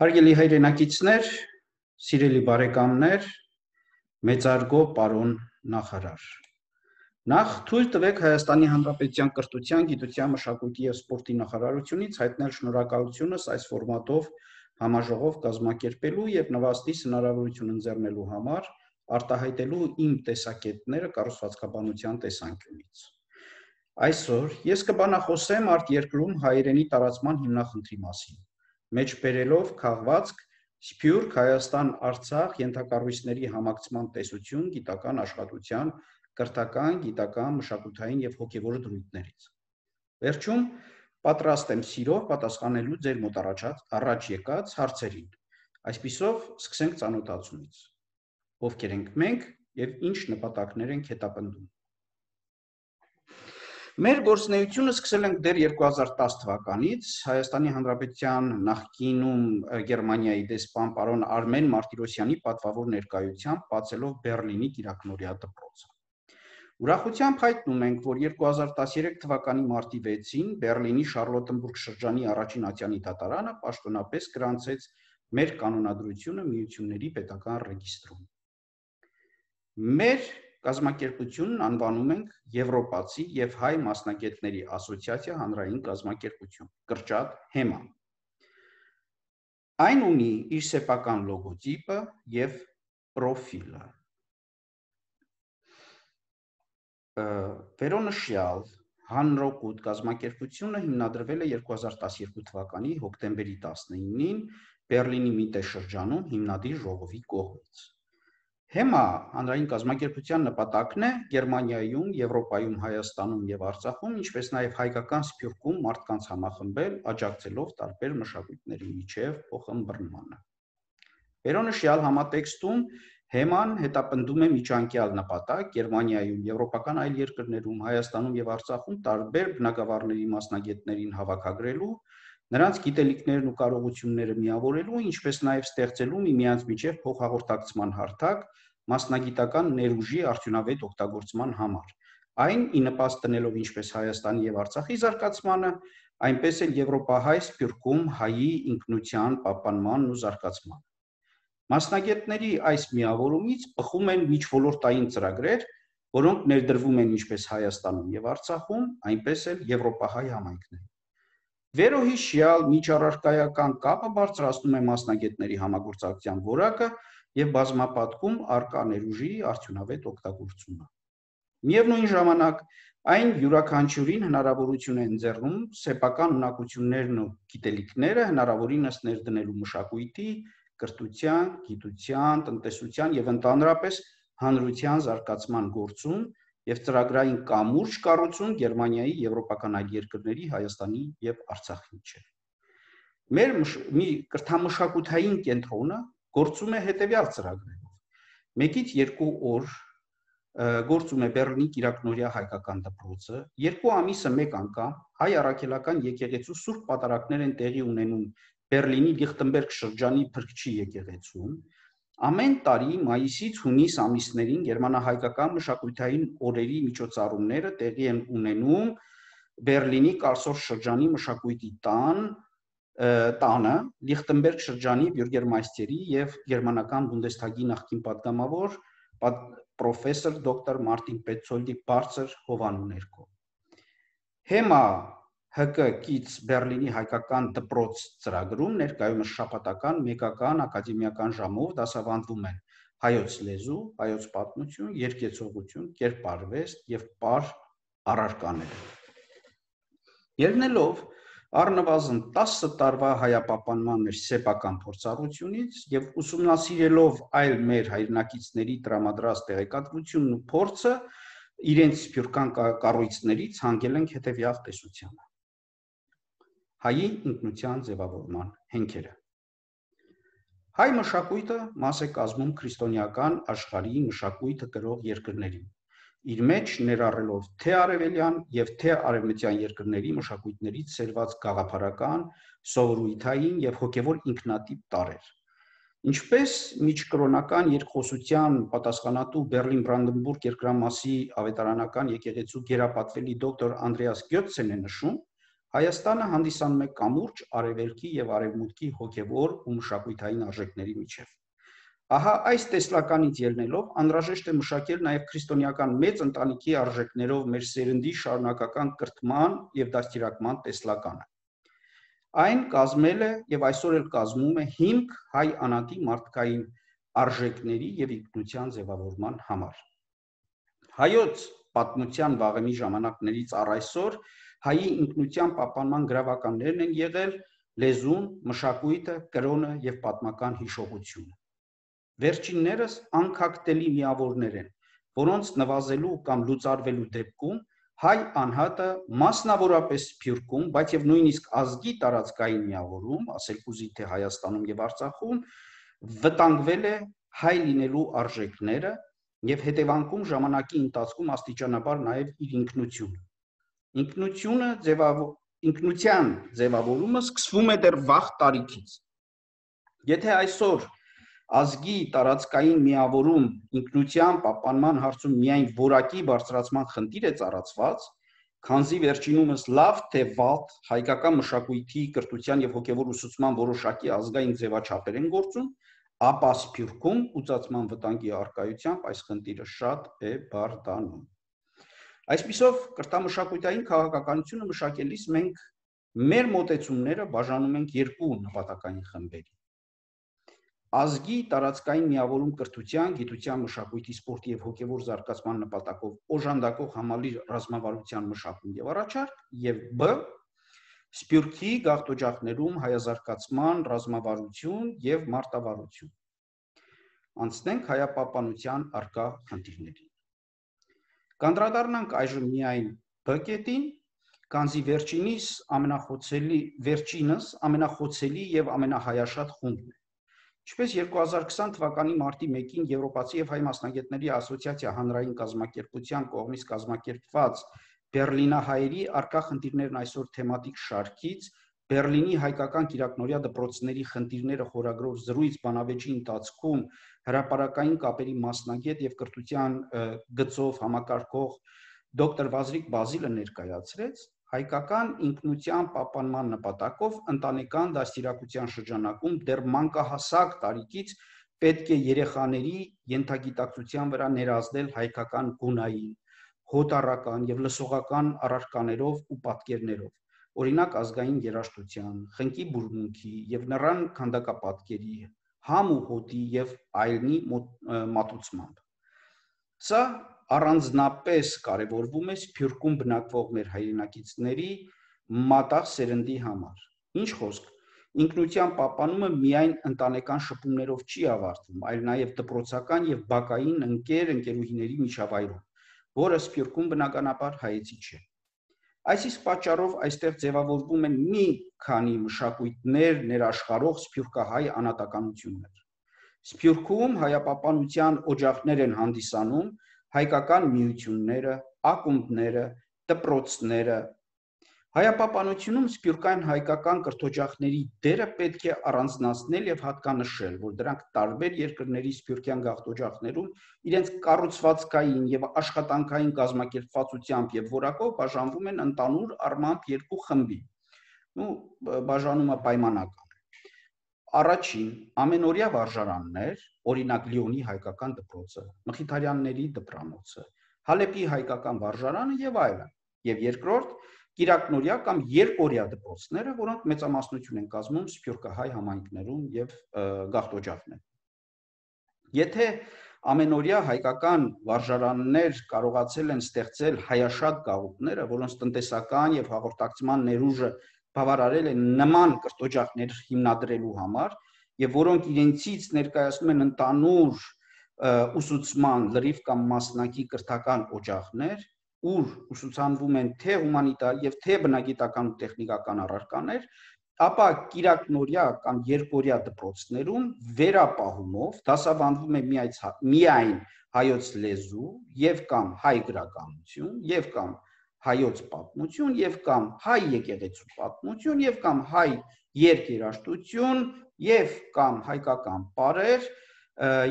Հարգելի հայրենակիցներ, սիրելի բարեկամներ, մեծարգո պարոն նախարար։ Նախ թույլ տվեք Հայաստանի Հանրապետության կրթության, գիտության, մշակույթի և սպորտի նախարարությունից հայտնել շնորհակալությունս այս ֆորմատով համաժողով կազմակերպելու և նվաստիս հնարավորություն ընձեռնելու համար, արտահայտելու իմ տեսակետները կառուցվածքաբանության տեսանկյունից։ Այսօր ես կբանախոսեմ արտերկրում հայերենի տարածման հիմնախնդրի մասին, մեջբերելով քաղվածք Սփյուռք Հայաստան-Արցախ ենթակառույցների համակցման տեսություն գիտական աշխատության, կրթական, գիտական, մշակութային և հոգևոր դրույթներից։ Վերջում պատրաստ եմ սիրով պատասխանելու ձեր մոտ առաջ եկած հարցերին։ Այսպիսով սկսենք ծանոթացումից։ Ովքեր ենք մենք և ինչ նպատակներ ենք հետապնդում։ Մեր գործունեությունը սկսել ենք դեռ 2010 թվականից Հայաստանի Հանրապետության նախկինում Գերմանիայի դեսպան պարոն Արմեն Մարտիրոսյանի պատվավոր ներկայությամբ բացելով Բեռլինի կիրակնօրյա դպրոցը։ Ուրախությամբ հայտնում ենք, որ 2013 թվականի մարտի 6-ին Բեռլինի Շարլոտենբուրգ շրջանի առաջին ատյանի դատարանը պաշտոնապես գրանցեց մեր կանոնադրությունը միությունների պետական ռեգիստրում։ Մեր կազմակերպությունն անվանում ենք Եվրոպացի և հայ մասնագետների ասոցիացիա հանրային կազմակերպություն, կրճատ ՀԵՄԱ։ Այն ունի իր սեփական լոգոտիպը և պրոֆիլը։ Վերոնշյալ հանրօգուտ կազմակերպությունը հիմնադրվել է 2012 թվականի հոկտեմբերի 19-ին Բեռլինի Միտե շրջանում հիմնադիր ժողովի կողմից։ ՀԵՄԱ հանրային կազմակերպության նպատակն է Գերմանիայում, Եվրոպայում, Հայաստանում և Արցախում, ինչպես նաև հայկական Սփյուռքում մարդկանց համախմբել, աջակցելով տարբեր մշակույթների միջև փոխըմբռնմանը։ Վերոնշյալ համատեքստում ՀԵՄԱ-ն հետապնդում է միջանկյալ նպատակ Գերմանիայում, եվրոպական այլ երկրներում, Հայաստանում և Արցախում տարբեր բնագավառների մասնագետներին հավաքագրելու, նրանց գիտելիքներն ու կարողությունները միավորելու, ինչպես նաև ստեղծելու միմյանց միջև փոխհաղորդակցման հարթակ մասնագիտական ներուժի արդյունավետ օգտագործման համար, այն ի նպաստ դնելով ինչպես Հայաստանի և Արցախի զարգացմանը, այնպես էլ Եվրոպահայ Սփյուռքում հայի ինքնության պահպանմանն ու զարգացմանը։ Մասնագետների այս միավորումից բխում են միջոլորտային ծրագրեր, որոնք ներդրվում են ինչպես Հայաստանում և Արցախում, այնպես էլ եվրոպահայ համայնքներում։ Վերոհիշյալ միջառարկայական կապը բարձրացնում է մասնագետների համագործակցության որակը և բազմապատկում առկա ներուժի արդյունավետ օգտագործումը։ Միևնույն ժամանակ, այն յուրաքանչյուրին հնարավորություն է ընձեռում սեփական ունակություններն ու գիտելիքները հնարավորինս ներդնելու մշակույթի, կրթության, գիտության, տնտեսության և ընդհանրապես հանրության զարգացման գործում և ծրագրային կամուրջ կառուցում Գերմանիայի, եվրոպական այլ երկրների, Հայաստանի և Արցախի միջև։ Մեր կրթամշակութային կենտրոնը գործում է հետևյալ ծրագրերով։ 1-2 օր գործում է Բեռլինի կիրակնօրյա հայկական դպրոցը, 2 ամիսը 1 անգամ հայ առաքելական եկեղեցու սուրբ պատարագներ են տեղի ունենում Բեռլինի Լիխտենբերգ շրջանի Փրկչի եկեղեցում, ամեն տարի մայիսից հունիս ամիսներին գերմանահայկական մշակութային օրերի միջոցառումները տեղի են ունենում Բեռլինի Կարլսորֆ շրջանի մշակույթի տանը, Լիխտենբերգ շրջանի բյուրգերմայստերի և գերմանական Բունդեսթագի նախկին պատգամավոր պրոֆեսոր դոկտոր Մարտին Պետցոլդի բարձր հովանու ներքո։ ՀԵՄԱ ՀԿ կից Բեռլինի հայկական դպրոց ծրագրում ներկայումս շաբաթական, մեկական, ակադեմիական ժամով դասավանդվում են հայոց լեզու, հայոց պատմություն, երգեցողություն, կերպարվեստ և պար առարկաներ։ Ելնելով առնվազն 10 տարվա հայապահպանման մեր սեփական փորձառությունից և ուսումնասիրելով այլ մեր հայրենակիցների տրամադրած տեղեկատվությունն ու փորձը, իրենց սփյուռքական կառույցներից հանգել ենք հետևյալ տեսությանը։ Հայի ինքնության ձևավորման հենքերը։ Հայ մշակույթը մաս է կազմում քրիստոնեական աշխարհի մշակույթը կրող երկրներին, իր մեջ ներառելով թե արևելյան և թե արևմտյան երկրների մշակույթներից սերված գաղափարական, սովորույթային և հոգևոր ինքնատիպ տարրեր։ Ինչպես միջկրոնական երկխոսության պատասխանատու Բեռլին-Բրանդենբուրգ երկրամասի ավետարանական եկեղեցու գերապատվելի դոկտոր Անդրեաս Գյոցցեն է նշում, Հայաստանը հանդիսանում է կամուրջ արևելքի եւ արևմուտքի հոգեվոր ու մշակութային արժեքների միջև։ Ահա այս տեսլականից ելնելով անհրաժեշտ է մշակել նաև քրիստոնեական մեծ ընտանիքի արժեքներով մեր սերնդի շարունակական կրթման եւ դաստիարակման տեսլականը։ Այն կազմել է եւ այսօր էլ կազմում է հիմք հայ անատի մարդկային արժեքների եւ ինքնության ձևավորման համար։ Հայոց պատմության վաղեմի ժամանակներից առ այսօր հայի ինքնության պահպանման գրավականներն են եղել լեզուն, մշակույթը, կրոնը եւ պատմական հիշողությունը։ Վերջիններս անքակտելի միավորներ են, որոնց նվազելու կամ լուծարվելու դեպքում հայ անհատը մասնավորապես Սփյուռքում, բայց եւ նույնիսկ ազգի տարածքային միավորում, ասել կուզի թե Հայաստանում եւ Արցախում, վտանգվել է հայ լինելու արժեքները եւ հետևանքում ժամանակի ընթացքում աստիճանաբար նաեւ իր ինքնությունը։ Ինքնության ձևավորումը սկսվում է դեռ վաղ տարիքից։ Եթե այսօր ազգի տարածքային միավորում ինքնության պահպանման հարցում միայն որակի բարձրացման խնդիր է ծառացված, քանզի վերջինումս լավ թե վատ հայկական մշակույթի, կրթության եւ հոգեվոր ուսուցման որոշակի ազգային ձևաչափեր են գործում, ապա Սփյուռքում ուծացման վտանգի առկայությամբ այս խնդիրը շատ է բարդանում։ Այսպիսով կրթամշակութային քաղաքականությունը մշակելիս մենք մեր մոտեցումները բաժանում ենք երկու նպատակային խմբերի։ Ազգի տարածքային միավորում կրթության, գիտության, մշակույթի, սպորտի եւ հոգեվոր զարգացման նպատակով օժանդակող համալիր ռազմավարության մշակում եւ առաջարկ, եւ բ. Սփյուռքի գաղթօջախներում հայազարգացման ռազմավարություն եւ մարտավարություն։ Անցնենք հայապահպանության առկա խնդիրներին։ Կանդրադառնանք այժմ միայն բ կետին, քանզի վերջինս ամենախոցելի եւ ամենահայաշատ խումբն է։ Ինչպես 2020 թվականի մարտի 1-ին Եվրոպացի եւ հայ մասնագետների ասոցիացիա հանրային կազմակերպության կողմից կազմակերպված Բեռլինահայերի առկա խնդիրներն այսօր թեմատիկ շարքից Բեռլինի հայկական կիրակնօրյա դպրոցների խնդիրները խորագրով զրույց բանավեճի ընթացքում հրապարակային կապերի մասնագետ եւ կրթության գծով համակարգող դոկտոր Վազրիկ Բազիլը ներկայացրեց, հայկական ինքնության պահպանման նպատակով ընտանեկան դաստիարակության շրջանակում դեռ մանկահասակ տարիքից պետք է երեխաների ենթագիտակցության վրա ներազդել հայկական գունային, հոտառական եւ լսողական առարկաներով ու պատկերներով, օրինակ ազգային երաժշտության, խնկի բուրմունքի եւ նռան քանդակապատկերի, համ ու հոտի եւ այլնի մատուցմամբ։ Սա առանձնապես կարևորվում է Սփյուռքում բնակվող մեր հայրենակիցների մատաղ սերնդի համար։ Ինչ խոսք, ինքնության պահպանումը միայն ընտանեկան շփումներով չի ավարտվում, այլ նաև դպրոցական եւ բակային ընկերուհիների միջավայրում, որը Սփյուռքում բնականաբար հայեցի չէ։ Այս իսկ պատճառով այստեղ ձևավորվում են մի քանի մշակույթներ ներաշխարհող սփյուռքահայ անհատականություններ։ Սփյուռքում հայապահպանության օջախներ են հանդիսանում հայկական միությունները, ակումբները, դպրոցները։ Հայապահպանությունում սփյուռքային հայկական կրթօջախների դերը պետք է առանձնացնել եւ հատկանշել, որ դրանք տարբեր երկրների սփյուռքյան գաղթօջախներում իրենց կառուցվածքային եւ աշխատանքային կազմակերպվածությամբ եւ որակով բաժանվում են ընդհանուր առմամբ երկու խմբի։ Բաժանումը պայմանական է։ Առաջին ամենօրյա վարժարաններ, օրինակ Լիոնի հայկական դպրոցը, Մխիթարյանների դպրանոցը, Հալեպի հայկական վարժարանը եւ այլն, եւ երկրորդ կիրակնօրյա կամ երկօրյա դպրոցները, որոնք մեծամասնություն են կազմում սփյուռքահայ համայնքներում եւ գաղթօջախներում։ Եթե ամենօրյա հայկական վարժարաններ կարողացել են ստեղծել հայաշատ գաղութները, որոնց տնտեսական եւ հաղորդակցման ներուժը բավարարել են նման կրթօջախներ հիմնադրելու համար եւ որոնք իրենցից ներկայացնում են ընդհանուր ուսուցման լրիվ կամ մասնակի կրթական օջախներ, ուր ուսուցանվում են թե հումանիտար եւ թե բնագիտական ու տեխնիկական առարկաներ, ապա կիրակնօրյա կամ երկօրյա դպրոցներում վերապահումով դասավանդվում է միայն հայոց լեզու եւ կամ հայ գրականություն եւ կամ հայոց պատմություն եւ կամ հայ եկեղեցու պատմություն եւ կամ հայ երգերաշտություն եւ կամ հայկական պարեր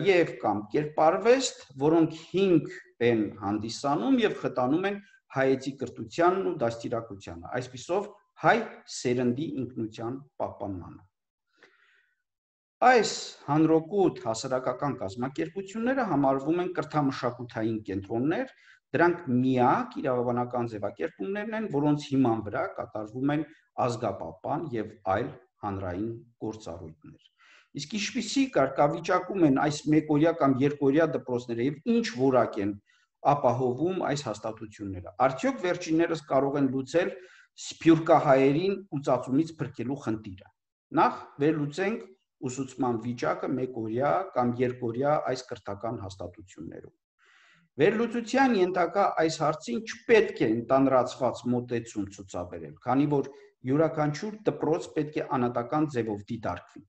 եւ կամ կերպարվեստ, որոնք հիմք են հանդիսանում եւ խտանում են հայեցի կրթությանն ու դաստիարակությանը, այսպիսով հայ սերնդի ինքնության պահպանմանը։ Այս հանրօգուտ հասարակական կազմակերպությունները համարվում են կրթամշակութային կենտրոններ, դրանք միակ իրավաբանական ձևակերպումներն են, որոնց հիման վրա կատարվում են ազգապահպան եւ այլ հանրային գործառույթներ։ Իսկ ինչպիսի կարգավիճակում են այս մեկօրյա կամ երկօրյա դպրոցները եւ ինչ որակ են ապահովում այս հաստատությունները։ Արդյոք վերջիններս կարող են լուծել սփյուռքահայերին ուծածումից փրկելու խնդիրը։ Նախ վերլուծենք ուսուցման վիճակը մեկօրյա կամ երկօրյա այս կրթական հաստատություններում։ Վերլուծության ենթակա այս հարցին չպետք է ընդանրացված մոտեցում ցուցաբերել, քանի որ յուրաքանչյուր դպրոց պետք է անհատական ձևով դիտարկվի։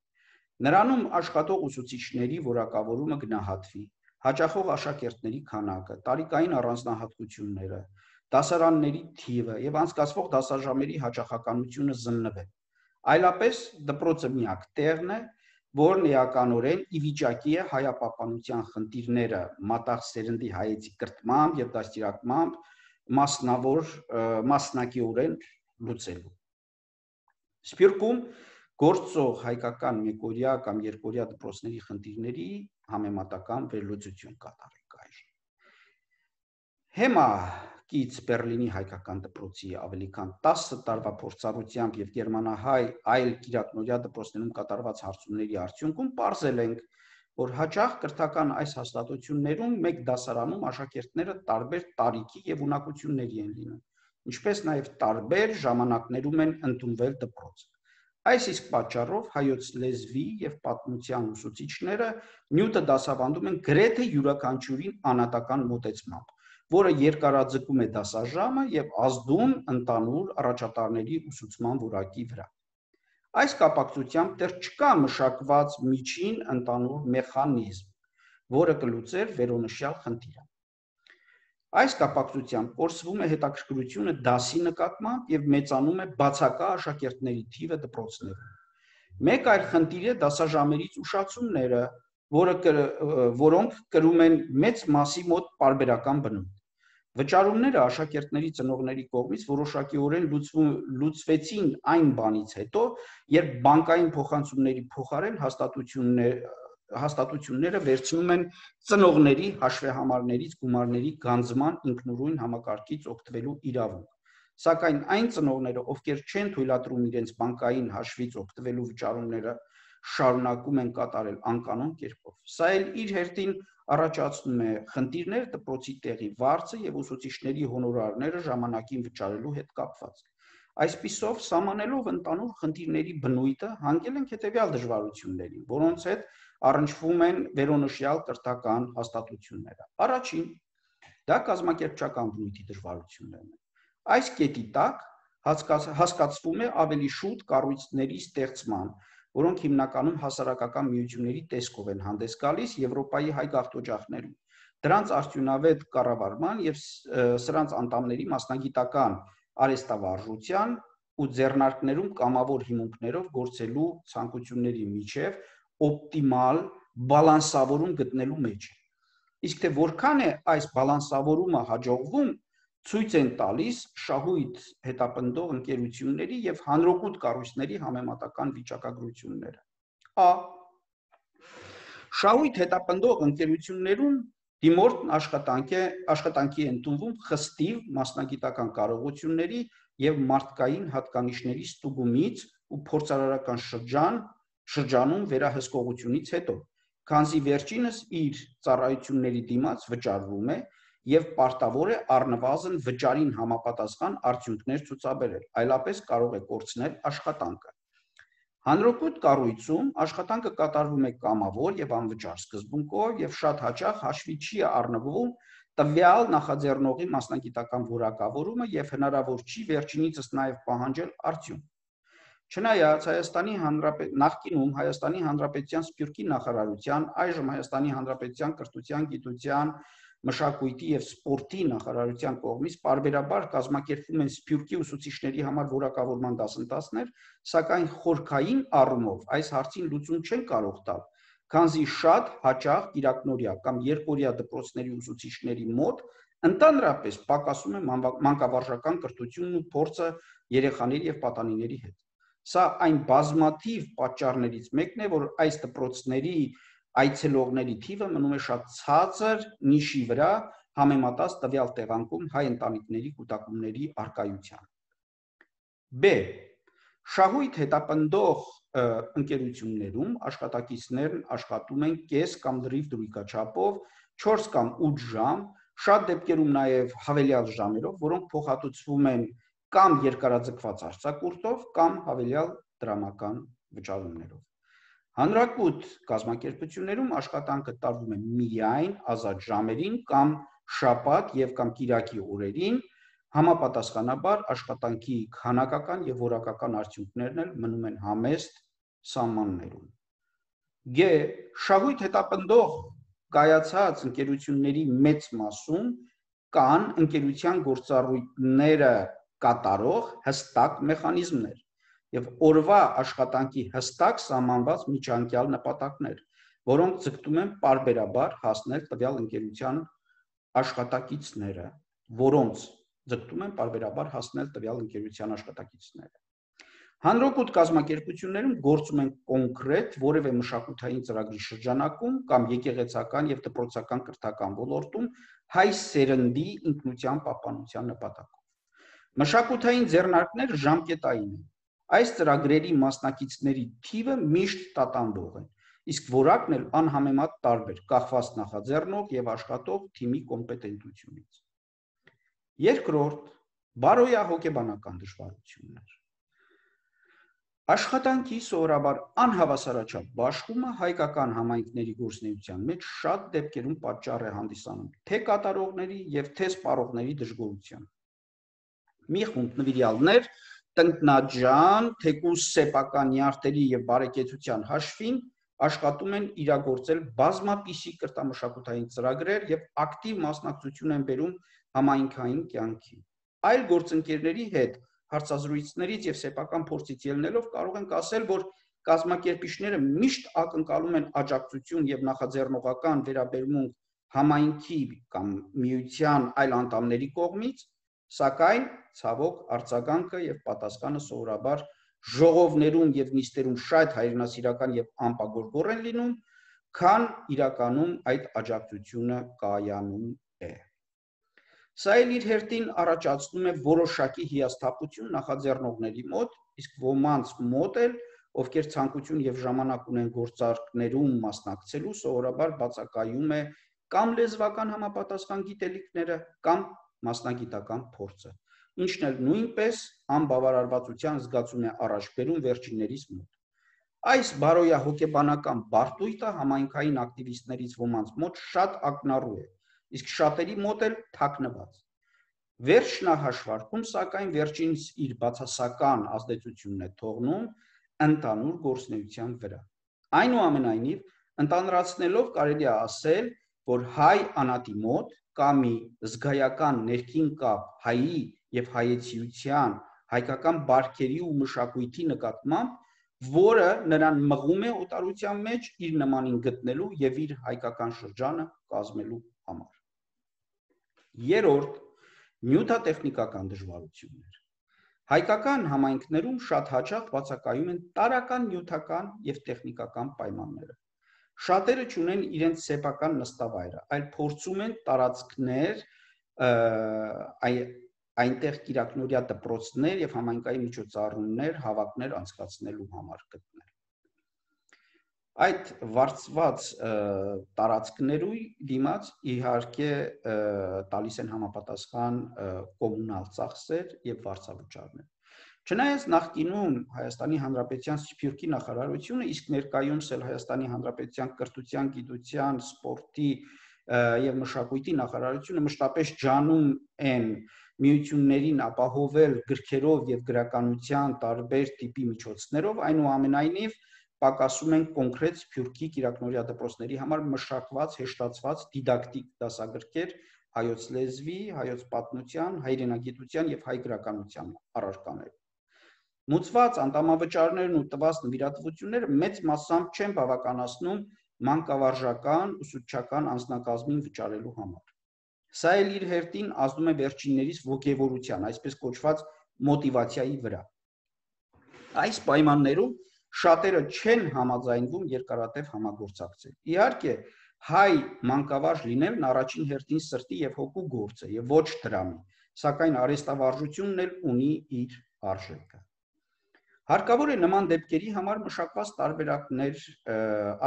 Նրանում աշխատող ուսուցիչների որակավորումը գնահատվի, հաճախող աշակերտների քանակը, տարիքային առանձնահատկությունները, դասարանների թիվը եւ անցկացվող դասաժամերի հաճախականությունը զննվեն։ Այլապես դպրոցը միակ տեղն է, որն էականորեն ի վիճակի է հայապահպանության խնդիրները մատաղ սերնդի հայեցի կրթմամբ եւ դաստիարակմամբ մասնակիորեն լուծելու։ Սփյուռքում գործող հայկական մեկօրյա կամ երկօրյա դպրոցների խնդիրների համեմատական վերլուծություն կատարենք այժմ։ Հեմակից Բեռլինի հայկական դպրոցի ավելի քան 10 տարվա փորձառությամբ եւ գերմանահայ այլ կիրակնօրյա դպրոցներում կատարված հարցումների արդյունքում պարզել ենք, որ հաճախ կրթական այս հաստատություններում մեկ դասարանում աշակերտները տարբեր տարիքի եւ ունակությունների են լինում, ինչպես նաեւ տարբեր ժամանակներում են ընդունվել դպրոց։ Այս իսկ պատճառով հայոց լեզվի եւ պատմության ուսուցիչները նյութը դասավանդում են գրեթե յուրաքանչյուրին անհատական մոտեցմամբ, որը երկարաձգում է դասաժամը եւ ազդում ընդհանուր առաջատարների ուսուցման որակի վրա։ Այս կապակցությամբ դեռ չկա մշակված միջին ընդհանուր մեխանիզմ, որը կլուծեր վերոնշյալ խնդիրը։ Այս կապակցությամբ կորսվում է հետաքրքրությունը դասի նկատմամբ եւ մեծանում է բացակա աշակերտների թիվը դպրոցներում։ Մեկ այլ խնդիր է դասաժամերից ուշացումները, որոնք կրում են մեծ մասի մոտ պարբերական բնույթ։ Վճարումները աշակերտների ծնողների կողմից որոշակիորեն լուծվեցին այն բանից հետո, երբ բանկային փոխանցումների փոխարեն հաստատությունները վերցնում են ծնողների հաշվեհամարներից գումարների գանձման ինքնուրույն համակարգից օգտվելու իրավունք, սակայն այն ծնողները, ովքեր չեն թույլատրում իրենց բանկային հաշվից օգտվելու վճարումները շարունակում են կատարել անկանոն կերպով։ Սա էլ իր հերթին առաջացնում է խնդիրներ դպրոցի տեղի վարձը եւ ուսուցիչների հոնորարները ժամանակին վճարելու հետ կապված։ Այսպիսով, սահմանելով ընդհանուր խնդիրների բնույթը, հանգել ենք հետեւյալ դժվարություններին, որոնց հետ առնչվում են վերոնշյալ կրթական հաստատությունները։ Առաջին, դա կազմակերպչական բնույթի դժվարություններն են։ Այս կետի տակ հասկացվում է ավելի շուտ կառույցների ստեղծման, որոնք հիմնականում հասարակական միությունների տեսքով են հանդես գալիս Եվրոպայի հայ գաղթօջախներում, դրանց արդյունավետ կառավարման եւ սրանց անդամների մասնագիտական արհեստավարժության ու ձեռնարկներում կամավոր հիմունքներով գործելու ցանկությունների միջև օպտիմալ բալանսավորում գտնելու մեջ է։ Իսկ թե որքան է այս բալանսավորումը հաջողվում, ցույց են տալիս շահույթ հետապնդող ընկերությունների եւ հանրօգուտ կառույցների համեմատական վիճակագրությունները։ Ա. Շահույթ հետապնդող ընկերություններում դիմորդ աշխատանքի ընդունվում խստիվ մասնագիտական կարողությունների եւ մարդկային հատկանիշների ստուգումից ու փորձարարական շրջանում վերահսկողությունից հետո, քանզի վերջինս իր ծառայությունների դիմաց վճարվում է եւ պարտավոր է առնվազն վճարին համապատասխան արդյունքներ ցուցաբերել, այլապես կարող է կորցնել աշխատանքը։ Հանրօգուտ կառույցում աշխատանքը կատարվում է կամավոր եւ անվճար սկզբունքով եւ շատ հաճախ հաշվի չի առնվում տվյալ նախաձեռնողի մասնագիտական որակավորումը եւ հնարավոր չի վերջինիցս նաեւ պահանջել արդյունք։ Չնայած նախկինում Հայաստանի Հանրապետության Սփյուռքի նախարարության, այժմ Հայաստանի Հանրապետության կրթության, գիտության, մշակույթի եւ սպորտի նախարարության կողմից պարբերաբար կազմակերպվում են Սփյուռքի ուսուցիչների համար որակավորման դասընթացներ, սակայն խորքային առումով այս հարցին լուծում չեն կարող տալ, քանզի շատ հաճախ կիրակնօրյա կամ երկօրյա դպրոցների ուսուցիչների մոտ Ընդհանրապես պակասում է մանկավարժական կրթությունն ու փորձը երեխաների եւ պատանիների հետ։ Սա այն բազմաթիվ պատճառներից մեկն է, որ այս դպրոցների այցելողների թիվը մնում է շատ ցածր նիշի վրա համեմատած տվյալ տեղանքում հայ ընտանիքների կուտակումների առկայության։ B. Շահույթ հետապնդող ընկերություններում աշխատակիցներն աշխատում են կես կամ լրիվ դրույքաչափով 4 կամ 8 ժամ, շատ դեպքերում նաև հավելյալ ժամերով, որոնք փոխհատուցվում են կամ երկարաձգված արձակուրդով կամ հավելյալ դրամական վճարումներով։ Հանրակույտ կազմակերպություններում աշխատանքը տարվում է միայն ազատ ժամերին կամ շաբաթ եւ կամ կիրակի օրերին, համապատասխանաբար աշխատանքի քանակական եւ որակական արդյունքներն էլ մնում են համեստ սահմաններում։ G. Շահույթ հետապնդող կայացած ընկերությունների մեծ մասում կան ընկերության գործառույթները կատարող հստակ մեխանիզմներ եւ օրվա աշխատանքի հստակ սահմանված միջանկյալ նպատակներ, որոնք ձգտում են պարբերաբար հասնել տվյալ ընկերության աշխատակիցները։ Հանրակույտ կազմակերպություններում գործում են կոնկրետ որևէ մշակութային ծրագրի շրջանակում կամ եկեղեցական եւ դպրոցական կրթական ոլորտում հայ սերնդի ինքնության պահպանության նպատակով։ Մշակութային ձեռնարկները ժամկետային են։ Այս ծրագրերի մասնակիցների թիվը միշտ տատանվող է, իսկ որակն էլ անհամեմատ տարբեր, կախված նախաձեռնող եւ աշխատող թիմի կոմպետենտությունից։ Երկրորդ, բարոյահոգեբանական դժվարություններ։ Աշխատանքի սովորաբար անհավասարաչափ բաշխումը հայկական համայնքների գործունեության մեջ շատ դեպքերում պատճառ է հանդիսանում թե կատարողների եւ թե սպառողների դժգոհության։ Մի խումբ նվիրյալներ տնտնաջան, թեկուզ սեփական նյարդերի եւ բարեկեցության հաշվին աշխատում են իրագործել բազմապիսի կրթամշակութային ծրագրեր եւ ակտիվ մասնակցություն են բերում համայնքային կյանքի։ Այլ գործընկերների հետ հարցազրույցներից եւ սեփական փորձից ելնելով կարող ենք ասել, որ կազմակերպիչները միշտ ակնկալում են աջակցություն եւ նախաձեռնողական վերաբերմունք համայնքի կամ միության այլ անդամների կողմից, սակայն ցավոք արձագանքը եւ պատասխանը սովորաբար ժողովներում եւ նիստերում շատ հայրենասիրական եւ անպագորգոր են լինում, քան իրականում այդ աջակցությունը կայանում է։ Սա էլ իր հերթին առաջացնում է որոշակի հիասթափություն նախաձեռնողների մոտ, իսկ ոմանց մոտ էլ, ովքեր ցանկություն եւ ժամանակ ունեն գործարքներում մասնակցելու, սովորաբար բացակայում է կամ լեզվական համապատասխան գիտելիքները, կամ մասնագիտական փորձը, ինչն էլ նույնպես անբավարարվածության զգացում է առաջ բերում վերջիններիս մոտ։ Այս բարոյահոգեբանական բարդույթը համայնքային ակտիվիստներից ոմանց մոտ շատ ակնառու է, իսկ շատերի մոտ էլ թաքնված։ Վերջնահաշվարկում, սակայն, վերջինս իր բացասական ազդեցությունն է թողնում ընդհանուր գործունեության վրա։ Այնուամենայնիվ, ընդհանրացնելով կարելի է ասել, որ հայ անատի մոտ կա մի զգայական ներքին կապ հայի եւ հայեցիության, հայկական բարքերի ու մշակույթի նկատմամբ, որը նրան մղում է օտարության մեջ իր նմանին գտնելու եւ իր հայկական շրջանը կազմելու համար։ Երրորդ, նյութատեխնիկական դժվարություններ։ Հայկական համայնքներում շատ հաճախ բացակայում են տարրական նյութական եւ տեխնիկական պայմանները։ Շատերը չունեն իրենց սեփական նստավայրը, այլ փորձում են տարածքներ, այնտեղ կիրակնօրյա դպրոցներ եւ համայնքային միջոցառումներ, հավաքներ անցկացնելու համար գտնել։ Այդ վարձված տարածքներու դիմաց իհարկե տալիս են համապատասխան կոմունալ ծախսեր եւ վարձավճարներ։ Չնայած նախկինում Հայաստանի Հանրապետության Սփյուռքի նախարարությունը, իսկ ներկայումս էլ Հայաստանի Հանրապետության կրթության, գիտության, սպորտի եւ մշակույթի նախարարությունը մշտապես ջանում են միություններին ապահովել գրքերով եւ գրականության տարբեր տիպի միջոցներով, այնուամենայնիվ պակասում են կոնկրետ Սփյուռքի կիրակնօրյա դպրոցների համար մշակված, հեշտացված դիդակտիկ դասագրքեր հայոց լեզվի, հայոց պատմության, հայրենագիտության եւ հայ գրականության առարկաներ։ Մուծված անդամավճարներն ու տված նվիրատվությունները մեծ մասամբ չեն բավականացնում մանկավարժական ուսուցչական անձնակազմին վճարելու համար։ Սա էլ իր հերթին ազդում է վերջիններիս ոգևորության, այսպես կոչված մոտիվացիայի վրա։ Այս պայմաններում շատերը չեն համաձայնվում երկարատև համագործակցել։ Իհարկե, հայ մանկավարժ լինելն առաջին հերթին սրտի եւ հոգու գործ է եւ ոչ դրամի, սակայն արհեստավարժությունն էլ ունի իր արժեքը։ Հարկավոր է նման դեպքերի համար մշակված տարբերակներ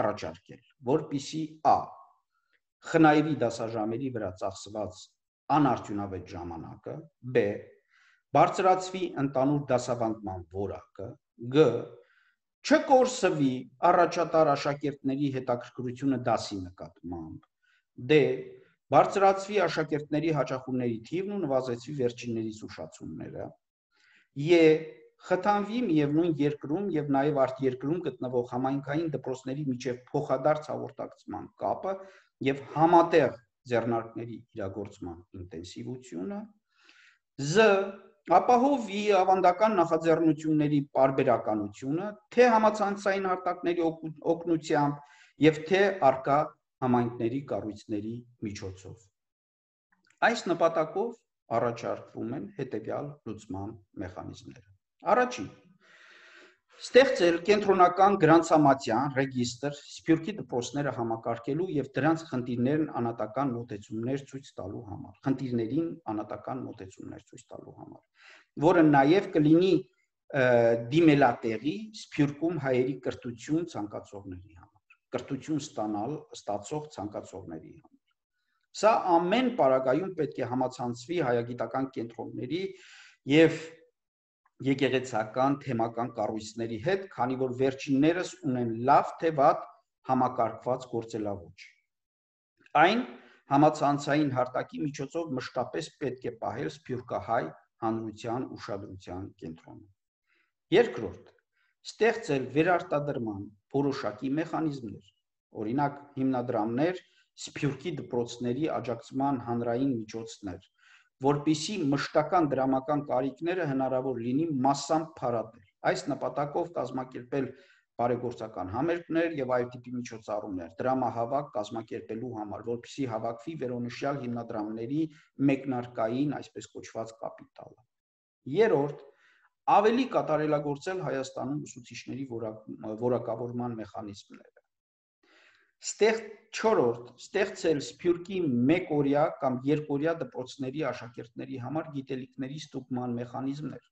առաջարկել, որպեսզի a. խնայվի դասաժամերի վրա ծախսված անարդյունավետ ժամանակը, b. բարձրացվի ընդհանուր դասավանդման որակը, g. չկորսվի առաջատար աշակերտների հետաքրքրությունը դասի նկատմամբ, d. բարձրացվի աշակերտների հաճախումների թիվն ու նվազեցվի վերջիններիս ուշացումները, e. խթանվի միևնույն երկրում եւ նաեւ արտերկրում գտնվող համայնքային դպրոցների միջև փոխադարձ հաղորդակցման կապը եւ համատեղ ձեռնարկների իրագործման ինտենսիվությունը, z. ապահովի ավանդական նախաձեռնությունների պարբերականությունը թե համացանցային հարթակների օգնությամբ եւ թե առկա համայնքների կառույցների միջոցով։ Այս նպատակով առաջարկվում են հետեւյալ լուծման մեխանիզմները։ Առաջին. ստեղծել կենտրոնական գրանցամատյան ռեգիստր սփյուռքի դպրոցները համակարգելու եւ դրանց խնդիրներին անհատական մոտեցումներ ցույց տալու համար, որը նաեւ կլինի դիմելատեղի սփյուռքում հայերի կրթություն ցանկացողների համար, կրթություն ստացող ցանկացողների համար։ Սա ամեն պարագայում պետք է համացանցվի հայագիտական կենտրոնների եւ եկեղեցական թեմական կառույցների հետ, քանի որ վերջիններս ունեն լավ թե վատ համակարգված գործելաոճ։ Այն համացանցային հարթակի միջոցով մշտապես պետք է պահել սփյուռքահայ հանրության ուշադրության կենտրոնում։ Երկրորդ. ստեղծել վերարտադրման որոշակի մեխանիզմներ, օրինակ հիմնադրամներ, սփյուռքի դպրոցների աջակցման հանրային միջոցներ, որպեսզի մշտական դրամական կարիքները հնարավոր լինի մասամբ փարատել։ Այս նպատակով կազմակերպել բարեգործական համերգներ եւ այլ տիպի միջոցառումներ, դրամահավաք կազմակերպելու համար, որպեսզի հավաքվի վերոնշյալ հիմնադրամների մեկնարկային, այսպես կոչված կապիտալը։ Երրորդ. ավելի կատարելագործել Հայաստանում ուսուցիչների որակավորման մեխանիզմները։ Չորրորդ. ստեղծել սփյուռքի մեկօրյա կամ երկօրյա դպրոցների աշակերտների համար գիտելիքների ստուգման մեխանիզմներ,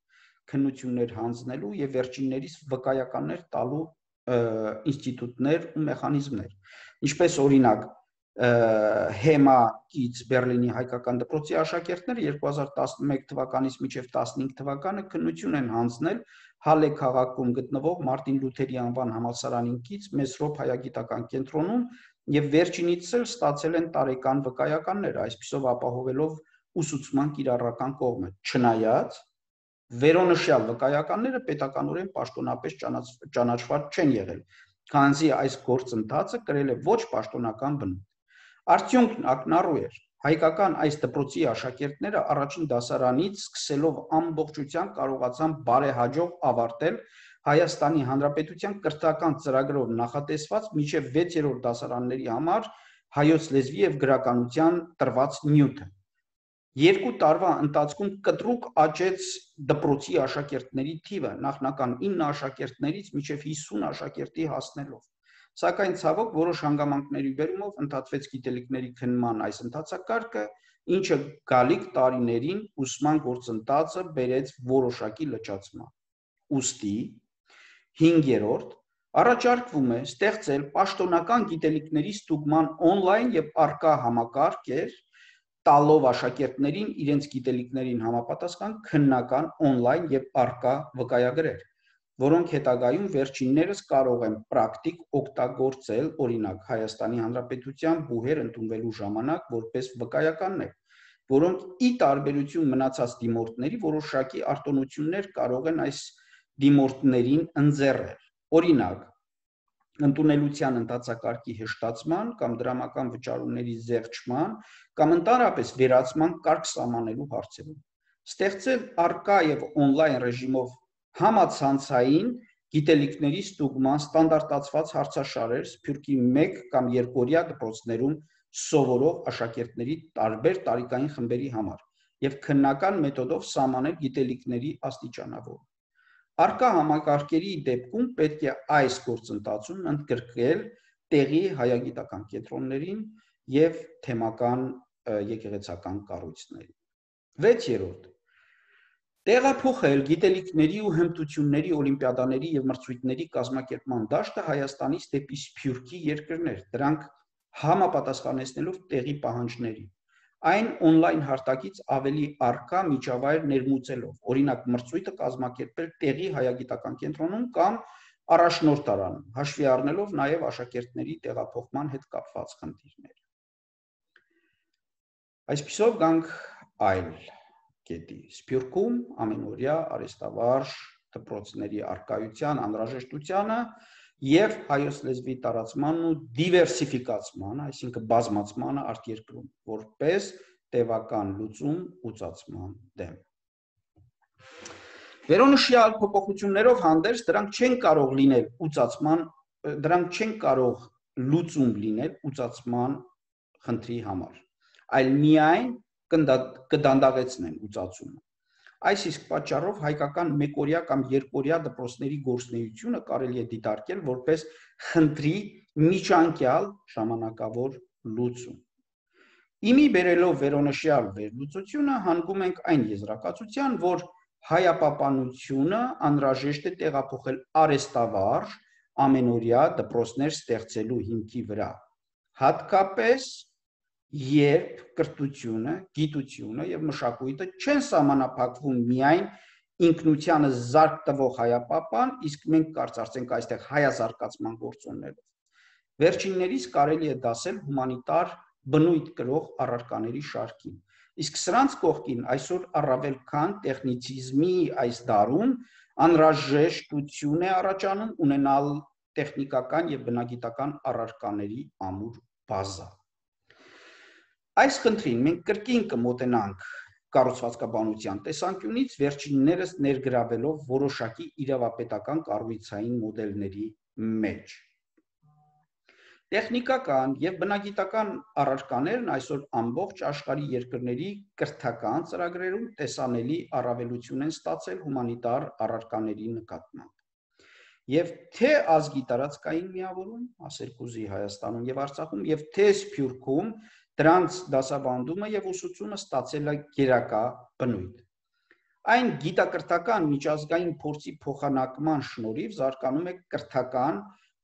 քննություններ հանձնելու եւ վերջիններիս վկայականներ տալու ինստիտուտներ ու մեխանիզմներ, ինչպես օրինակ Հեմա-կից Բեռլինի հայկական դպրոցի աշակերտները 2011 թվականից մինչև 15 թվականը քննություն են հանձնել Հալե քաղաքում գտնվող Մարտին Լութերի անվան համալսարանին կից Մեսրոպ հայագիտական կենտրոնում եւ վերջինից էլ ստացել են տարեկան վկայականներ, այսպիսով ապահովելով ուսուցման կիրառական կողմը, չնայած վերոնշյալ վկայականները պետականորեն պաշտոնապես ճանաչված չեն եղել, քանզի այս գործընթացը կրել է ոչ պաշտոնական բնույթ։ Արդյունքն ակնառու էր, հայկական այս դպրոցի աշակերտները առաջին դասարանից սկսելով ամբողջությամբ կարողացան բարեհաջող ավարտել Հայաստանի Հանրապետության կրթական ծրագրով նախատեսված մինչև 6-րդ դասարանների համար հայոց լեզվի եւ գրականության տրված նյութը։ 2 տարվա ընթացքում կտրուկ աճեց դպրոցի աշակերտների թիվը, նախնական 9 աշակերտներից մինչև 50 աշակերտի հասնելով։ Սակայն ցավոք որոշ հանգամանքների բերումով ընդհատվեց գիտելիքների քննման այս ընթացակարգը, ինչը գալիք տարիներին ուսման գործընթացը բերեց որոշակի լճացման։ Ուստի 5-րդ առաջարկվում է ստեղծել պաշտոնական գիտելիքների ստուգման օնլայն եւ առկա համակարգեր, տալով աշակերտներին իրենց գիտելիքներին համապատասխան քննական օնլայն եւ առկա վկայագրեր, որոնք հետագայում վերջիններս կարող են պրակտիկ օգտագործել, օրինակ Հայաստանի Հանրապետության բուհեր ընդունվելու ժամանակ որպես վկայականներ, որոնք ի տարբերություն մնացած դիմորդների որոշակի արտոնություններ կարող են այս դիմորդներին ընձեռել, օրինակ ընդունելության ընթացակարգի հեշտացման կամ դրամական վճարումների զեղչման կամ ընդհանրապես վերացման կարգ սահմանելու հարցերում, ստեղծել առկա եւ օնլայն ռեժիմով համացանցային գիտելիքների ստուգման ստանդարտացված հարցաշարեր սփյուռքի 1 կամ 2-օրյա դպրոցներում սովորող աշակերտների տարբեր տարիքային խմբերի համար եւ քննական մեթոդով սահմանել գիտելիքների աստիճանավորում։ Առկա համակարգերի դեպքում պետք է այս գործընթացում ընդգրկել տեղի հայագիտական կենտրոններին եւ թեմական եկեղեցական կառույցներին։ 6. Տեղափոխել գիտելիքների ու հմտությունների օլիմպիադաների եւ մրցույթների կազմակերպման դաշտը Հայաստանից դեպի Սփյուռքի երկրներ, դրանք համապատասխանեցնելով տեղի պահանջներին, այն on-line հարթակից ավելի առկա միջավայր ներմուծելով, օրինակ մրցույթը կազմակերպել տեղի հայագիտական կենտրոնում կամ առաջնորդարանում, հաշվի առնելով նաեւ աշակերտների տեղափոխման հետ կապված խնդիրներ։ Այսպիսով գանք այլ կետի։ Սփյուռքում ամենօրյա արհեստավարժ դպրոցների առկայության անհրաժեշտությանը եւ հայոց լեզվի տարածմանն ու դիվերսիֆիկացմանը, այսինքն բազմացմանը արտերկրում, որպես տևական լուծում ուծացման դեմ։ Վերոնշյալ փոփոխություններով հանդերձ դրանք չեն կարող լուծում լինել ուծացման խնդրի համար, այլ միայն կդանդաղեցնեն ուծացումը։ Այս իսկ պատճառով հայկական մեկօրյա կամ երկօրյա դպրոցների գործունեությունը կարելի է դիտարկել որպես խնդրի միջանկյալ ժամանակավոր լուծում։ Իմի բերելով վերոնշյալ վերլուծությունը հանգում ենք այն եզրակացության, որ հայապապանությունը անհրաժեշտ է տեղափոխել արհեստավարժ ամենօրյա դպրոցներ ստեղծելու հիմքի վրա, հատկապես երբ կրթությունը, գիտությունը եւ մշակույթը չեն սահմանափակվում միայն ինքնությանը զարկ տվող հայապապան, իսկ մենք կարծրացենք այստեղ հայազարգացման գործոններով։ Վերջիններիս կարելի է դասել հումանիտար բնույթ կրող առարկաների շարքին, իսկ սրանց կողքին այսօր առավել քան տեխնիցիզմի այս դարում անհրաժեշտություն է առաջանում ունենալ տեխնիկական եւ բնագիտական առարկաների ամուր բազա։ Այս խնդրին մենք կրկին կմոտենանք կառուցվածքաբանության տեսանկյունից, վերջիններս ներգրավելով որոշակի իրավապետական կառույցային մոդելների մեջ։ Տեխնիկական եւ բնագիտական առարկաներն այսօր ամբողջ աշխարհի երկրների կրթական ծրագրերում տեսանելի առավելություն են ստացել հումանիտար առարկաների նկատմամբ։ Եվ թե ազգի տարածքային միավորում, ասել կուզի Հայաստանում եւ Արցախում, եւ թե Սփյուռքում դրանց դասավանդումը եւ ուսուցումը ստացել է գերակա բնույթ։ Այն գիտակրթական միջազգային փորձի փոխանակման շնորհիվ զարգանում է կրթական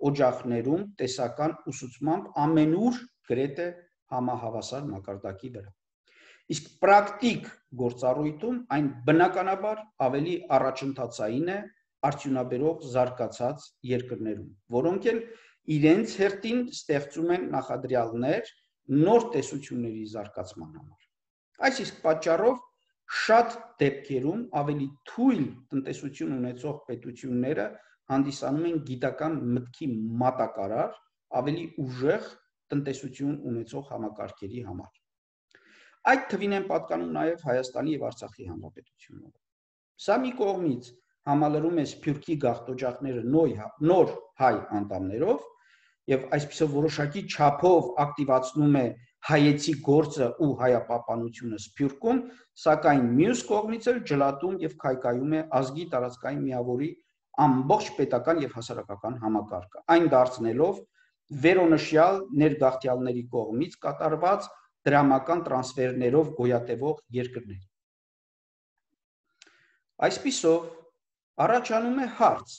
օջախներում տեսական ուսուցմամբ ամենուր գրեթե համահավասար մակարդակի վրա։ Իսկ պրակտիկ գործառույթում այն բնականաբար ավելի առաջընթացային է արդյունաբերող զարգացած երկրներում, որոնք էլ իրենց հերթին ստեղծում են նախադրյալներ նոր տեսությունների զարգացման համար։ Այս իսկ պատճառով շատ դեպքերում ավելի թույլ տնտեսություն ունեցող պետությունները հանդիսանում են գիտական մտքի մատակարար, ավելի ուժեղ տնտեսություն ունեցող համակարգերի համար։ Այդ թվին են պատկանում նաև Հայաստանի եւ Արցախի հանրապետությունները։ Սա մի կողմից համալրում է Սփյուռքի գաղթօջախները նոր հայ անդամներով եւ այսպիսով որոշակի չափով ակտիվացնում է հայեցի գործը ու հայապապանությունը Սփյուռքում, սակայն մյուս կողմից էլ ջլատում եւ քայքայում է ազգի տարածքային միավորի ամբողջ պետական եւ հասարակական համակարգը, այն դարձնելով վերոնշյալ ներգաղթյալների կողմից կատարված դրամական տրանսֆերներով գոյատևող երկրներ։ Այսպիսով առաջանում է հարց.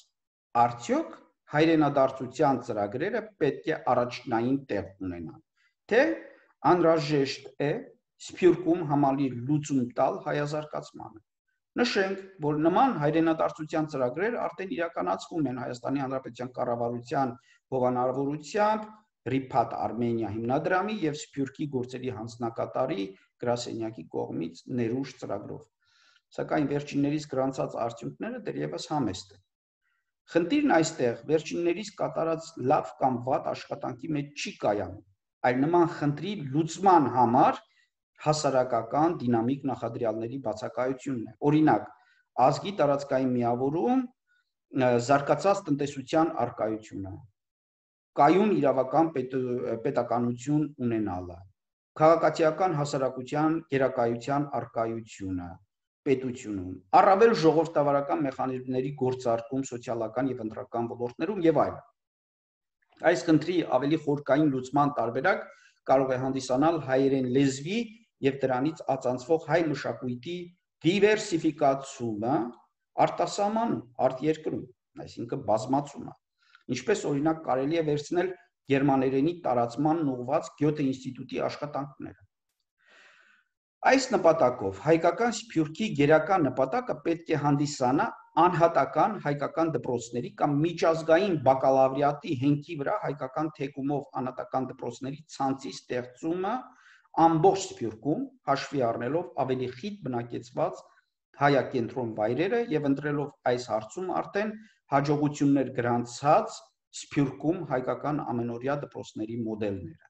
արդյոք հայրենադարձության ծրագրերը պետք է առաջնային տեղ ունենան, թե անհրաժեշտ է Սփյուռքում համալիր լուծում տալ հայազարգացմանը։ Նշենք, որ նման հայրենադարձության ծրագրեր արդեն իրականացվում են Հայաստանի Հանրապետության կառավարության հովանավորությամբ Ռիփաթ Արմենիա հիմնադրամի եւ Սփյուռքի գործերի հանձնակատարի գրասենյակի կողմից ներուժ ծրագրով։ Սակայն վերջիններիս գրանցած արդյունքները դեռևս համեստ են։ Խնդիրն այստեղ վերջիններիս կատարած լավ կամ վատ աշխատանքի մեջ չի կայանում, այլ նման խնդրի լուծման համար հասարակական դինամիկ նախադրյալների բացակայությունն է։ Օրինակ, ազգի տարածքային միավորում զարգացած տնտեսության առկայությունը, կայուն իրավական պետականություն ունենալը, քաղաքացիական հասարակության գերակայության առկայությունը պետությունում, առավել ժողովրդավարական մեխանիզմների գործարկում սոցիալական եւ ընտրական ոլորտներում եւ այլն։ Այս խնդրի ավելի խորքային լուծման տարբերակ կարող է հանդիսանալ հայերեն լեզվի եւ դրանից ածանցվող հայ մշակույթի դիվերսիֆիկացումը արտասահմանում, արտերկրում, այսինքն բազմացումը, ինչպես օրինակ կարելի է վերցնել գերմաներենի տարածմանն ուղղված Գյոթե ինստիտուտի աշխատանքները։ Այս նպատակով հայկական սփյուռքի գերական նպատակը պետք է հանդիսանա անհատական հայկական դպրոցների կամ միջազգային բակալավրիատի հենքի վրա հայկական թեկումով անհատական դպրոցների ցանցի ստեղծումը ամբողջ Սփյուռքում, հաշվի առնելով ավելի խիտ բնակեցված հայակենտրոն վայրերը եւ ընտրելով այս հարցում արդեն հաջողություններ գրանցած Սփյուռքում հայկական ամենօրյա դպրոցների մոդելները։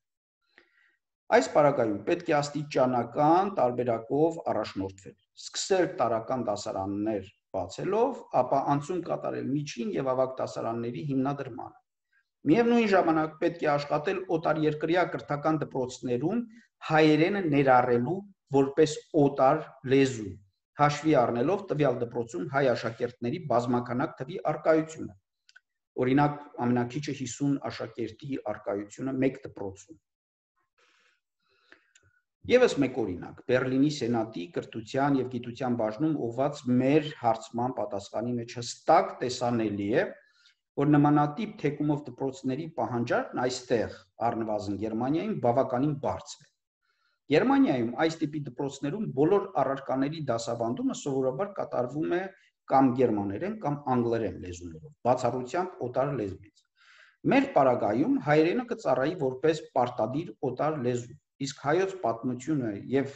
Այս պարագայում պետք է աստիճանական տարբերակով առաջնորդվել, սկսել տարրական դասարաններ բացելով, ապա անցում կատարել միջին եւ ավագ դասարանների հիմնադրմանը։ Միևնույն ժամանակ պետք է աշխատել օտարերկրյա կրթական դպրոցներում հայերենը ներառելու որպես օտար լեզու, հաշվի առնելով տվյալ դպրոցում հայ աշակերտների բազմականակ թվի առկայությունը։ Օրինակ, ամենակիչը 50 աշակերտի առկայությունը մեկ դպրոցում։ Եվս մեկ օրինակ, Բերլինի Սենատի կրթության եւ գիտության բաժնում ուղղված մեր հարցման պատասխանի մեջ հստակ տեսանելի է, որ նմանատիպ թեկումով դպրոցների պահանջարկն այստեղ, առնվազն Գերմանիայում, բավականին բարձր է։ Գերմանիայում այս տիպի դպրոցներում բոլոր առարկաների դասավանդումը սովորաբար կատարվում է կամ գերմաներեն կամ անգլերեն լեզուներով, բացառությամբ օտար լեզվից։ Մեր պարագայում հայերենը կծառայի որպես պարտադիր օտար լեզու, իսկ հայոց պատմությունը եւ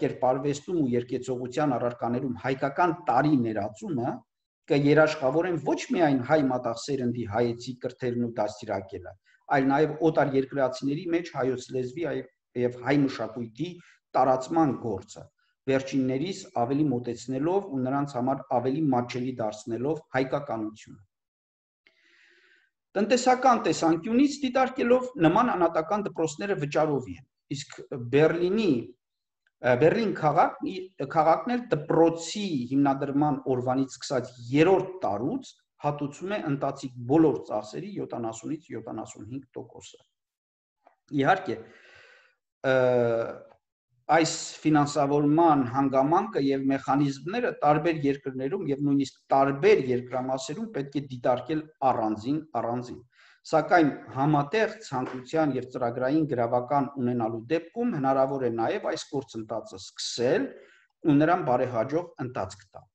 կերպարվեստում ու երկեցողության առարկաներում հայկական տարի ներածումը կերաշխավորեն ոչ միայն հայ մատաղսերնդի հայեցի կրթելն ու դաստիարակելը, այլ նաեւ օտար երկրացիների մեջ հայոց լեզվի եւ հայ մշակույթի տարածման գործը, վերջիններիս ավելի մոտեցնելով ու նրանց համար ավելի մատչելի դարձնելով հայկականությունը։ Տնտեսական տեսանկյունից դիտարկելով նման անհատական դպրոցները վճարովի են, իսկ Բերլին քաղաքն էլ դպրոցի հիմնադրման օրվանից սկսած 3-րդ տարուց հատուցում է ընթացիկ բոլոր ծախսերի 70-ից 75%-ը։ Իհարկե, այս ֆինանսավորման հանգամանքը եւ մեխանիզմները տարբեր երկրներում եւ նույնիսկ տարբեր երկրամասերում պետք է դիտարկել առանձին, սակայն համատեղ ցանկության եւ ծրագրային գրավական ունենալու դեպքում հնարավոր է նաեւ այս գործընթացը սկսել ու նրան բարեհաջող ընթացք տալ։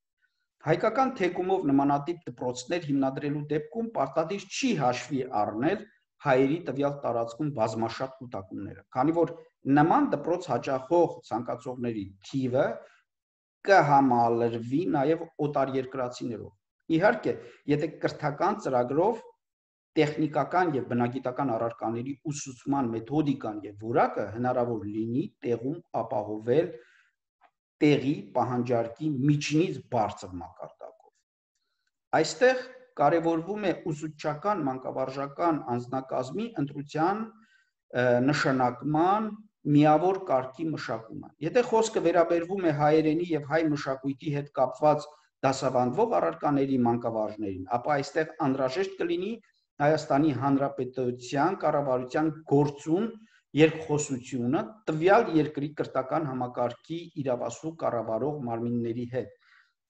Հայկական թեկումով նմանատիպ դպրոցներ հիմնադրելու դեպքում պարտադիր չի հաշվի առնել հայերի տվյալ տարածքում բազմաշատ կուտակումները, քանի որ նման դպրոց հաճախող ցանկացողների թիվը կհամալրվի նաև օտարերկրացիներով։ Իհարկե, եթե կրթական ծրագրով տեխնիկական եւ բնագիտական առարկաների ուսուցման մեթոդիկան եւ որակը հնարավոր լինի տեղում ապահովել տեղի պահանջարկի միջինից բարձր մակարդակով։ Այստեղ կարևորվում է ուսուցչական մանկավարժական անձնակազմի ընտրության նշանակման միավոր կարգի մշակումը։ Եթե խոսքը վերաբերվում է հայերենի եւ հայ մշակույթի հետ կապված դասավանդվող առարկաների մանկավարժներին, ապա այստեղ անհրաժեշտ կլինի Հայաստանի Հանրապետության կառավարության գործուն երկխոսությունը տվյալ երկրի կրթական համակարգի իրավասու կառավարող մարմինների հետ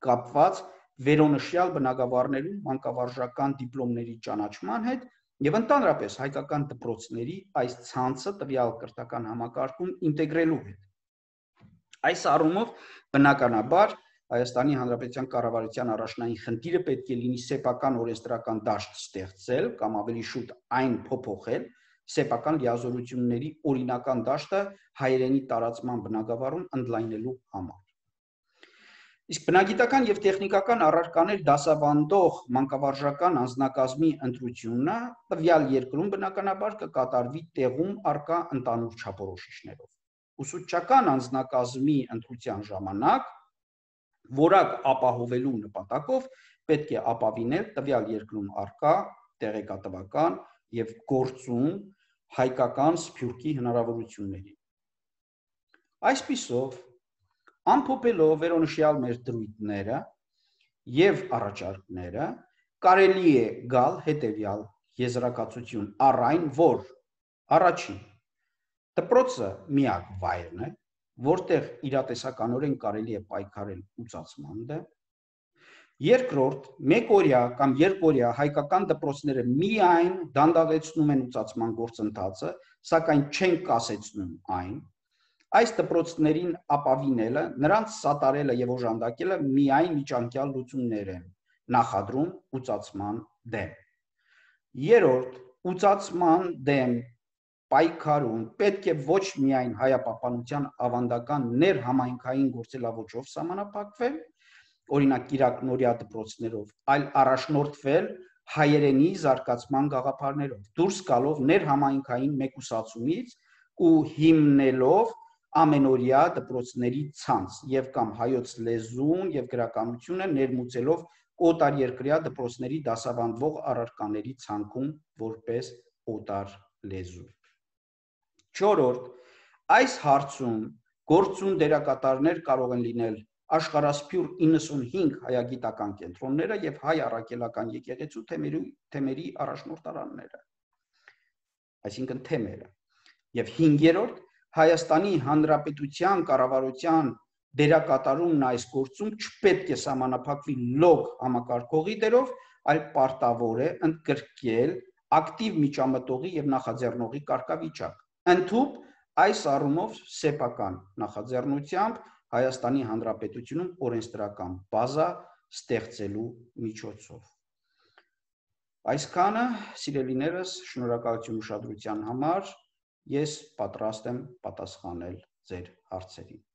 կապված վերոնշյալ բնագավառներում մանկավարժական դիպլոմների ճանաչման հետ եւ ընդհանրապես հայկական դպրոցների այս ցանցը տվյալ կրթական համակարգում ինտեգրելու հետ։ Այս առումով բնականաբար Հայաստանի Հանրապետության կառավարության առաջնային խնդիրը պետք է լինի սեփական օրենսդրական դաշտ ստեղծել կամ ավելի շուտ այն փոփոխել սեփական լիազորությունների օրինական դաշտը հայերենի տարածման բնագավառում ընդլայնելու համար։ Իսկ բնագիտական եւ տեխնիկական առարկաներ դասավանդող մանկավարժական անձնակազմի ընտրությունը տվյալ երկրում բնականաբար կկատարվի տեղում առկա ընդանուր չափորոշիչներով։ Ուսուցչական անձնակազմի ընտրության ժամանակ որակ ապահովելու նպատակով պետք է ապավինել տվյալ երկրում առկա տեղեկատվական, եւ գործում հայկական սփյուռքի հնարավորություններին։ Այսպիսով, ամփոփելով վերոնշյալ մեր դրույթները եւ առաջարկները, կարելի է գալ հետեւյալ եզրակացություն առ այն, որ առաջին դպրոցը միակ վայրն է, որտեղ իրատեսականորեն կարելի է պայքարել ուծացման դեմ, երկրորդ, մեկօրյա կամ երկօրյա հայկական դպրոցները միայն դանդաղեցնում են ուծացման գործընթացը, սակայն չեն կասեցնում այն, այս դպրոցներին ապավինելը, նրանց սատարելը եւ օժանդակելը միայն միջանկյալ լուծումներ են նախադրում ուծացման դեմ։ Երրորդ, ուծացման դեմ պայքարում պետք է ոչ միայն հայապահպանության ավանդական ներհամայնքային գործելավոճով սահմանափակվել, օրինակ կիրակնորյա դպրոցներով, այլ առաջնորդվել հայերենի զարգացման գաղափարներով, դուրս գալով ներհամայնքային մեկուսացումից ու հիմնելով ամենօրյա դպրոցների ցանց եւ կամ հայոց լեզուն եւ գրականությունը ներմուծելով օտարերկրյա դպրոցների դասավանդվող առարկաների ցանկում որպես օտար լեզու։ Չորրորդ, այս հարցում գործուն դերակատարներ կարող են լինել աշխարհասփյուռ 95 հայագիտական կենտրոնները եւ հայ առաքելական եկեղեցու թեմերի առաջնորդարանները, այսինքն թեմերը, եւ հինգերորդ, Հայաստանի Հանրապետության կառավարության դերակատարումն այս գործում չպետք է սահմանափակվի լոկ համակարգողի դերով, այլ պարտավոր է ընդգրկել ակտիվ միջամտողի եւ նախաձեռնողի կարգավիճակ, ընդհուպ այս առումով սեփական նախաձեռնությամբ Հայաստանի Հանրապետությունում օրենսդրական բազա ստեղծելու միջոցով։ Այսքանը, սիրելիներս, շնորհակալություն ուշադրության համար, ես պատրաստ եմ պատասխանել ձեր հարցերին։